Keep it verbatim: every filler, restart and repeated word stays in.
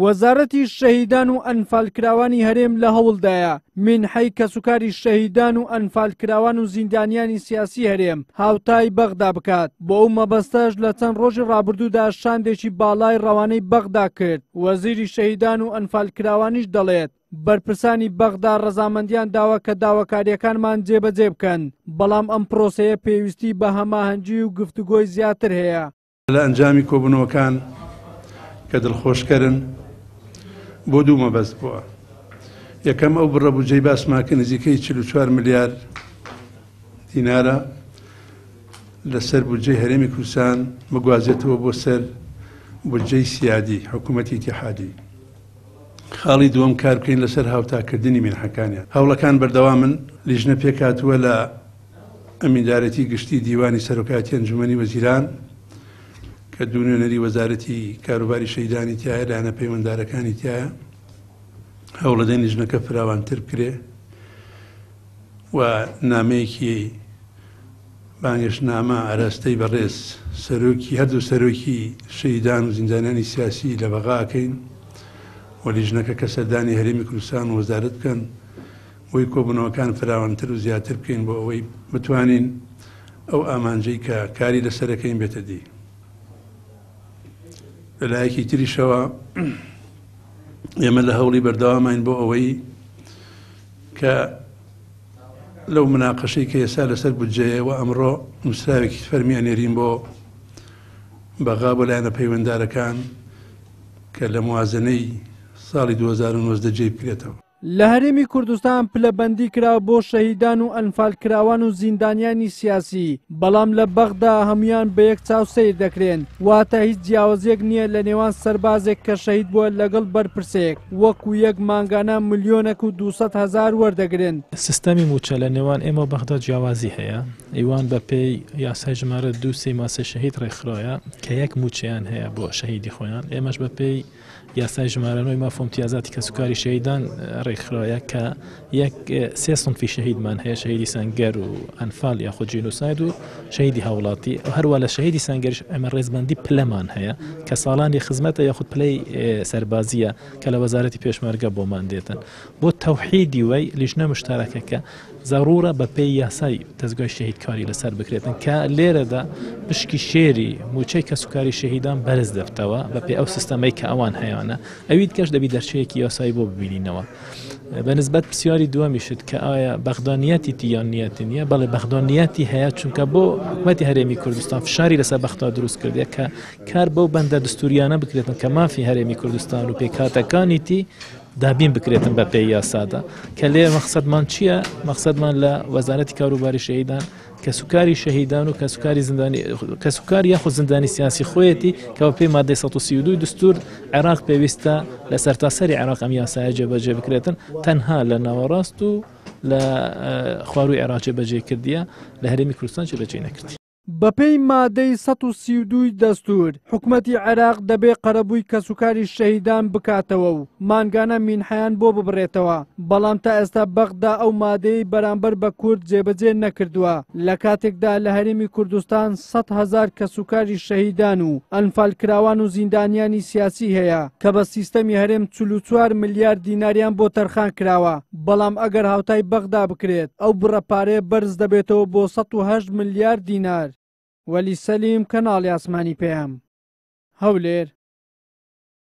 وەزارەتی شەهیدان و ئەنفالکراوانی هەرێم لە هەوڵدایە مینحەی کەسوکاری شەهیدان و ئەنفالکراوان و زیندانیانی سیاسی هەرێم هاوتای بەغدا بکات. بۆ ئەو مەبەستەش لە چەند ڕۆژی ڕابردوودا شاندێکی باڵای ڕەوانەی بەغدا کرد. وەزیری شەهیدان و ئەنفالکراوانیش دەڵێت بەرپرسانی بەغدا ڕەزامەندیان داوە کە داواکاریەکانمان جێبەجێ بکەن، بەڵام ئەم پرۆسەیە پێویستی بە هەماهەنگی و گفتوگۆی زیاتر هەیە. لە ئەنجامی کۆبوونەوەکان کە دڵخۆشکەرن بۆ دوو مەبەست بووە. یەکەم ئەو بڕە بودجەی باسمان کە نزیکەی چل و چوار ملیار دینارە لەسەر بودجەی هەرێمی کوردستان بگوازێتەوە بۆ سەر بودجەی سیادی حکوومەتی ئیتیحادی. خاڵی دووەم کار بکەین لەسەر هاوتاکردنی مینحەکانیان. هەوڵەکان بەردەوامن. لیژنە پێکهاتووە لە ئەمیندارێتی گشتی دیوانی سەرۆکایەتی ئەنجومەنی وەزیران کە دوو نوێنەری وەزارەتی کاروباری شەهیدانی تایە، لایەنە پەیوەنددارەکانی تایە. هەوڵەدەین لیژنەکە فراوانتر بکرێ و نامەیەکی بانگێشتنامە ئاراستەی بەڕێز سەرۆکی هەردوو سەرۆکی شەهیدان و زیندانیانی سیاسی لە بەغا ئەکەین و لیژنەکە کە سەردانی هەرێمی کوردستان و وەزارەت بکەن بۆی کۆبوونەوەکان فراوانتر و زیاتر بکەین بۆ ئەوەی بتوانین ئەو ئامانجەی کە کاری لەسەرەکەین بێتە دی. لەلایەکی تریشەوە ئێمە لە هەوڵی بەردەوامین بۆ ئەوەی کە لەو مناقەشەی کە ئێستا لەسەر بودجەیەوە ئەمڕۆ نووسراوێکی فەرمی ئەنێرین بۆ بەغا بۆ لایەنە پەیوەنددارەکان کە لە موازنەی ساڵی دوو هەزار و نۆزدە جێی بکرێتەوە. لە هەرێمی کوردستان پلەبەندی کرا بۆ شەهیدان و ئەنفالکراوان و زیندانیانی سیاسی، بەڵام لە بەغدا هەمویان بە یەک چاو سەیر دەکرێن، واتە هیچ جیاوازیەک نییە لە نێوان سەربازێک کە شەهید بووە لەگەڵ بەرپرسێک وەکو یەک مانگانە ملیۆنێک و دووسەد هەزار وەردەگرن. سیستەمی موچە لە نێوان ئێمە و بەغدا جیاوازی هەیە. ئیوان بە پێی یاسای ژمارە دوو سێ ماسەی شەهید ڕێکخرایە کە یەک موچەیان هەیە بۆ شەهیدی خۆیان. ئێمەش بە پێی یاسای ژمارە نۆی ماف و امتیازاتی کەسوکاری شەهیدان ڕێکخرایە کە یەک سێ سنفی شەهیدمان هەیە، شەهیدی سەنگەر و ئەنفال یاخود جینۆساید و شەهیدی هاوڵاتی. هەروە لە شەهیدی سەنگەریش ئێمە ڕێزبەندی پلەمان هەیە کە ساڵانی خزمەتە یاخود پلەی سەربازیە کە لە وەزارەتی پێشمەرگە بۆمان دێتن. بۆ تەوحیدی وەی لیژنە مشتەرەکەکە ضرورە بە پێی یاسای دەستگای شەهیدکاری لەسەر بکرێتن کە لێرەدا پشکی شێری موچەی کەسوکاری شەهیدان بەرز دەبتەوە بە پێی ئەو سیستەمەی کە ئەوان هەیانە. ئەویت کەش دەبی دەرچەیەکی یاسایی بۆ ببینینەوە. بە نسبەت پرسیاری دووەمیشت کە ئایا بەغدا نیەتی یان نیەتی نییە، بەڵێ بەغدا نیەتی هەیە، چونکە بۆ حکوومەتی هەرێمی کوردستان فشاری لەسەر بەغدا دروست کردیە کە کار بەو بەندە دەستوریانە بکرێتن کە مافی هەرێمی کوردستان و پێکهاتەکانیتی دابین بکرێتن بە پێی یاسادا. کە لێ مەقسەدمان چییە؟ مەقسەدمان لە وەزارەتی کاروباری شەهیدان کەسوکاری شەهیدان و کەسوکاری زیندانی کەسوکاری یاخود زیندانی سیاسی خۆیەتی کە بە پێی مادەی سەد و سی و دوو دستور عێراق پێویستە لە سەرتاسەری عێراق ئەم یاسایە جێبەجێ بکرێتن، تەنها لە ناوەڕاست و لە خواروی عێراق جێبەجێ کردیە، لە هەرێمی کوردستان جێبەجێ نەکردی. بەپێی مادەی سەد و سی و دووی دەستور حکوومەتی عێراق دەبێ قەرەبووی کەسوکاری شەهیدان بکاتەوە و مانگانە مینحەیان بۆ ببڕێتەوە، بەڵام تا ئێستا بەغدا ئەو مادەی بەرامبەر بە کورد جێبەجێ نەکردووە. لە کاتێکدا لە هەرێمی کوردستان سەد هەزار کەسوکاری شەهیدان و ئەنفالکراوان و زیندانیانی سیاسی هەیە کە بە سیستەمی هەرێم چل و چوار ملیار دیناریان بۆ تەرخان کراوە، بەڵام ئەگەر هاوتای بەغدا بکرێت ئەو بڕە پارەیە بەرز دەبێتەوە بۆ سەد و هەشت ملیار دینار. وەلی سەلیم، کەناڵی ئاسمانی پەیام، هەولێر.